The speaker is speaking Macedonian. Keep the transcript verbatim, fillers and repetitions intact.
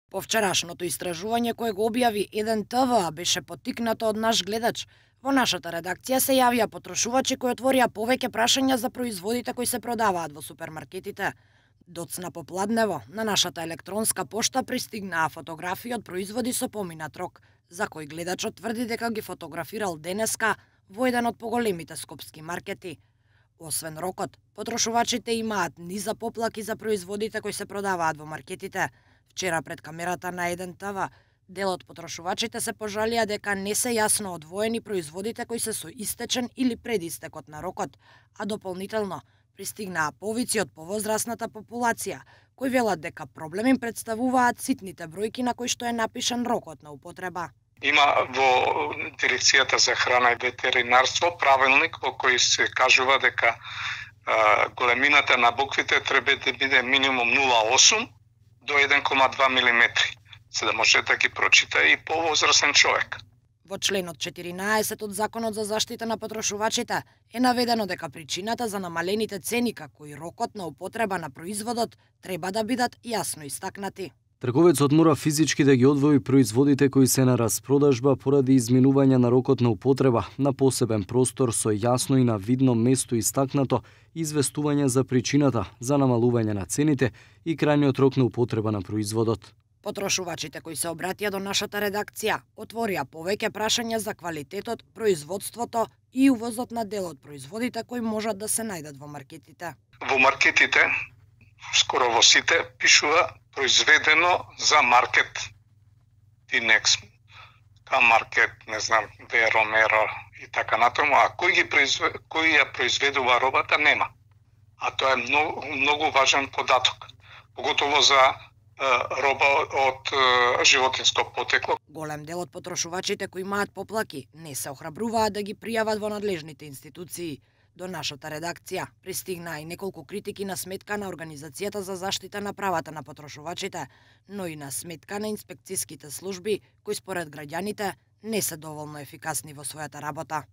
По вчерашното истражување кое го објави еден Т В беше поттикнато од наш гледач. Во нашата редакција се јавија потрошувачи кои отворија повеќе прашања за производите кои се продаваат во супермаркетите. Доцна попладнево, на нашата електронска пошта пристигнаа фотографии од производи со поминат рок, за кои гледачот тврди дека ги фотографирал денеска во еден од поголемите скопски маркети. Освен рокот, потрошувачите имаат низа поплаки за производите кои се продаваат во маркетите. Вчера пред камерата на еден Т В, дел од потрошувачите се пожалија дека не се јасно одвоени производите кои се со истечен или предистекот на рокот, а дополнително пристигнаа повици од повозрасната популација, кои велат дека проблем им представуваат ситните бројки на кои што е напишан рокот на употреба. Има во Дирекцијата за храна и ветеринарство правилник во кој се кажува дека а, големината на буквите треба да биде минимум нула целу осум до еден целу два милиметри, за да може да ги прочита и повозрасен човек. Во членот четиринаесет од Законот за заштита на потрошувачите е наведено дека причината за намалените цени како и рокот на употреба на производот треба да бидат јасно истакнати. Трговецот мора физички да ги одвои производите кои се на распродажба поради изминување на рокот на употреба на посебен простор со јасно и на видно место истакнато известување за причината за намалување на цените и крајниот рок на употреба на производот. Потрошувачите кои се обратија до нашата редакција отворија повеќе прашања за квалитетот, производството и увозот на дел од производите кои можат да се најдат во маркетите. Во маркетите, скоро во сите, пишува произведено за маркет Динекс, К маркет, не знам, Веро, Меро и така натаму, а кој ги произвед... кој ја произведува робата нема. А тоа е многу, многу важен податок, поготово за е, роба од е, животинско потекло. Голем дел од потрошувачите кои имаат поплаки не се охрабруваат да ги пријават во надлежните институции. До нашата редакција пристигнаа и неколку критики на сметка на Организацијата за заштита на правата на потрошувачите, но и на сметка на инспекцијските служби, кои според граѓаните не се доволно ефикасни во својата работа.